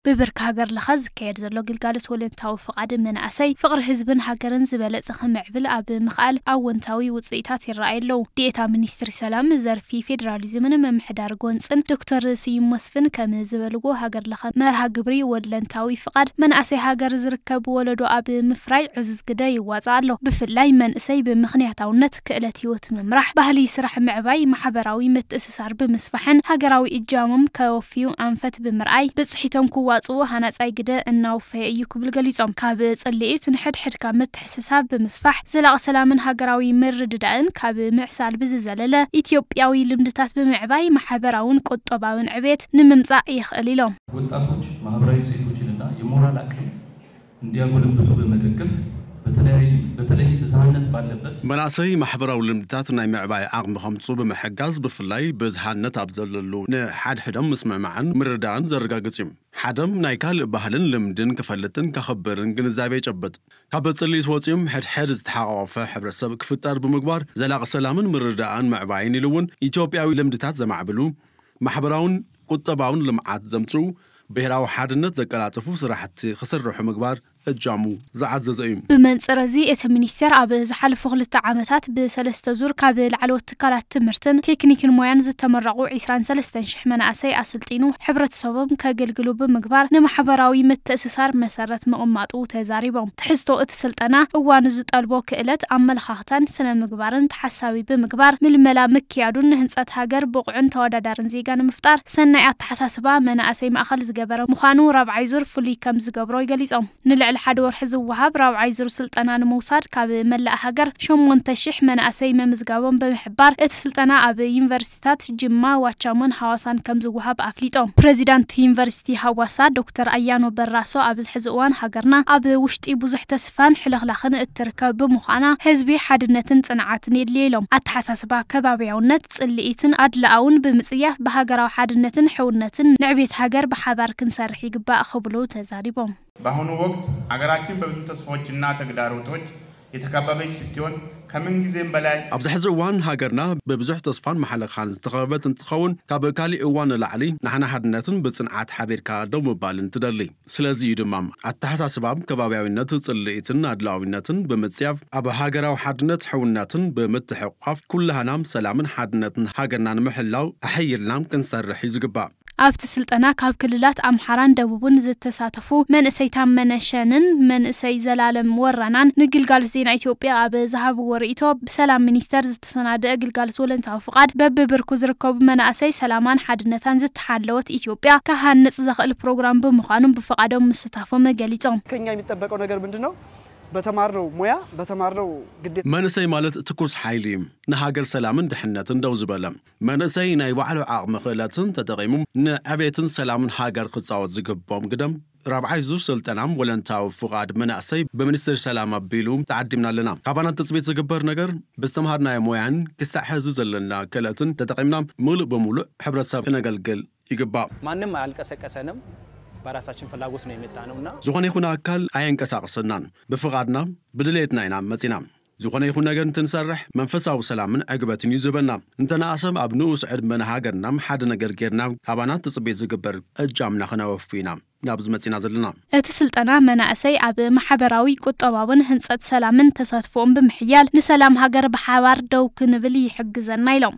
ብብርኪ ሃገር ለኸ ዝካየድ ዘሎ ግልጋሎት ወለንታዊ ፍቓድ መናእሰይ ፍቕሪ ህዝብን ሃገርን ዝበለጸ ክምዕብል ኣብ ምኽኣል ኣወንታዊ ውጽኢታት ይረኣዩ ኣለዉ። ዲኤታ ሚኒስትሪ ሰላም ዘርፊ ፌዴራሊዝምን ምምሕዳር ጎንጽን ዶክተር ስዩም መስፍን ከም ዝበልዎ፣ ሃገር ለኸ መርሃ ግብሪ ወለንታዊ ፍቓድ መናእሰይ ሃገር ዝርከብ ወለዶ ኣብ ምፍራይ ዕዙዝ ግደ ይዋጽእ ኣሎ። ብፍላይ መንእሰይ ብምኽንያታውነት ክእለት ህይወት ምምራሕ፣ ባህሊ ስራሕ ምዕባይ፣ ማሕበራዊ ምትእስሳር ብምስፋሕን ሃገራዊ እጃሞም ከወፍዩ ኣንፈት ብምርኣይ ብጽሒቶም ክዋጽኡ ሃናጻይ ግደ እናወፈየ እዩ ክብል ገሊጾም። ካብ ጽልኢት ንሕድሕድካ ምትሕስሳብ ብምስፋሕ ዘላቒ ሰላምን ሃገራዊ ምርድዳእን ካብ ምዕሳል ብዝዘለለ ኢትዮጵያዊ ልምድታት ብምዕባይ ማሕበራውን ቁጠባውን ዕቤት ንምምጻእ ይኽእል ኢሎም። ወጣቶች ማህበራዊ እሴቶችንና የሞራል አቅም እንዲያጎለብቱ በመደገፍ በተለይ ብዝሃነት ባለበት መናእሰይ ማሕበራዊ ልምድታት ናይ ምዕባይ ዓቕሚ ከምፁ ብምሕጋዝ ብፍላይ ብዝሃነት ኣብ ዘለሉ ንሓድሕዶም ምስምዕማዕን ምርዳእን ዘረጋግፅ እዩ። ሓደም ናይ ካልእ ባህልን ልምድን ክፈልጥን ከኽብርን ግንዛቤ ይጨብጥ። ካብ ጽልኢት ወፂኦም ሕድሕድ ዝተሓቋቆፈ ሕብረተሰብ ክፍጠር ብምግባር ዘላቒ ሰላምን ምርዳእን ምዕባይን ኢሉ እውን ኢትዮጵያዊ ልምድታት ዘማዕብሉ ማሕበራውን ቁጠባውን ልምዓት ዘምፅኡ ብሄራዊ ሓድነት ዘቀላጥፉ ስራሕቲ ክስርሑ ምግባር እጃሙ ዝዓዘዘ እዩ። ብመንጽር እዚ እቲ ሚኒስቴር ኣብ ዝሓለፉ ክልተ ዓመታት ብሰለስተ ዙር ካብ ላዕለዎት ትካላት ትምህርትን ቴክኒክን ሞያን ዝተመረቑ ዒስራን ሰለስተን ሽሕ መናእሰይ ኣሰልጢኑ ሕብረተሰቦም ከገልግሉ ብምግባር ንማሕበራዊ ምትእስሳር መሰረት ምቕማጡ ተዛሪቦም። ትሕዝቶ እቲ ስልጠና እዋኑ ዝጠልቦ ክእለት ኣመለኻኽታን ስነ ምግባርን ተሓሳቢ ብምግባር ምልመላ ምክያዱን ንህንጸት ሃገር ብቑዕን ተወዳዳርን ዜጋ ንምፍጣር ሰናይ ኣተሓሳስባ መናእሰይ ማእኸል ዝገበረ ምዃኑ ራብዓይ ዙር ፍሉይ ከም ዝገብሮ ገሊጾም። ንልዕሊ ሓደ ወርሒ ዝወሃብ ራብዓይ ዙር ስልጠና ንምውሳድ ካብ መላእ ሃገር ሸሞንተ ሽሕ መናእሰይ ምምዝጋቦም ብምሕባር እቲ ስልጠና ኣብ ዩኒቨርሲቲታት ጅማ፣ ዋቻሞን ሃዋሳን ከም ዝወሃብ ኣፍሊጦም። ፕሬዚዳንት ዩኒቨርሲቲ ሃዋሳ ዶክተር ኣያኖ በራሶ ኣብዚ ሕዚ እዋን ሃገርና ኣብ ውሽጢ ብዙሕ ተስፋን ሕልኽላኽን እትርከብ ብምዃና ህዝቢ ሓድነትን ጽንዓትን የድልዮ ኢሎም። ኣተሓሳስባ ከባብያውነት፣ ጽልኢትን ኣድልኣውን ብምጽያፍ ብሃገራዊ ሓድነትን ሕውነትን ንዕቤት ሃገር ብሓባር ክንሰርሕ ይግባእ ክብሉ ተዛሪቦም። በአሁኑ ወቅት ሀገራችን በብዙ ተስፋዎችና ተግዳሮቶች የተከበበች ስትሆን ከምንጊዜም በላይ ኣብዚ ሕዚ እዋን ሃገርና ብብዙሕ ተስፋን ማሕለኻን ዝተኸበበት እንትኸውን ካብ ካሊእ እዋን ንላዕሊ ንሓና ሓድነትን ብጽንዓት ሓቢርካ ደው ምባልን ትደሊ። ስለዚ እዩ ድማ ኣተሓሳስባ ከባብያዊነት፣ ጽልኢትን ኣድላዊነትን ብምጽያፍ ኣብ ሃገራዊ ሓድነት ሕውነትን ብምትሕቋፍ ኩላህናም ሰላምን ሓድነትን ሃገርና ንምሕላው ኣሐይልናም ክንሰርሕ እዩ ዝግባእ። ኣብቲ ስልጠና ካብ ክልላት ኣምሓራን ደቡብን ዝተሳተፉ መንእሰይ ታመነ ሸንን መንእሰይ ዘላለም ወራናን ንግልጋሎት ዜና ኢትዮጵያ ኣብ ዝሃብዎ ርእይቶ ብሰላም ሚኒስቴር ዝተሰናደአ ግልጋሎት ወለንታዊ ፍቓድ በብብርኩ ዝርከቡ መናእሰይ ሰላማን ሓድነታን ዝተሓለወት ኢትዮጵያ ክሃንጽ ዘኽእል ፕሮግራም ብምዃኑ ብፍቓዶም ምስታፎም ገሊጾም። ከኛ የሚጠበቀው ነገር ምንድን ነው? በተማርነው ሙያ በተማርነው ግዴታ መንእሰይ ማለት ትኩስ ሓይሊ እዩ። ንሃገር ሰላምን ድሕነትን ደው ዝበለ መንእሰይ ናይ ባዕሉ ዓቕሚ ክእለትን ተጠቒሙ ንዕቤትን ሰላምን ሃገር ክጻወት ዝግብኦም ግደም ራብዓይ ዙር ስልጠና ወለንታዊ ፍቓድ መናእሰይ ብሚኒስትሪ ሰላም ኣቢሉ ተዓዲምና ኣለና። ካባና ትጽቢት ዝግበር ነገር ብዝተምሃርናዮ ሞያን ክሳዕ ሕዚ ዘለና ክእለትን ተጠቒምና ምሉእ ብምሉእ ሕብረተሰብ ክነገልግል ይግባእ። ማንም አያንቀሳቅሰንም፣ በራሳችን ፍላጎት ነው የመጣነውና ዝኾነ ይኹን አካል አያንቀሳቅሰናን፣ ብፍቓድና ብድሌትና ኢና መጺና። ዝኾነ ይኹን ነገር እንትንሰርሕ መንፈሳዊ ሰላምን ዕግበትን እዩ ዝህበና። እንተነኣ ሰብ ኣብ ንኡስ ዕድመ ንሃገርና ሓደ ነገር ጌርና ካባና ትጽቢት ዝግበር እጃምና ክነወፊ ኢና ናብዚ መጺና ዘለና። እቲ ስልጠና መናእሰይ ኣብ ማሕበራዊ ቁጠባውን ህንጸት ሰላምን ተሳትፎኦም ብምሕያል ንሰላም ሃገር ብሓባር ደው ክንብል ይሕግዘና ኢሎም።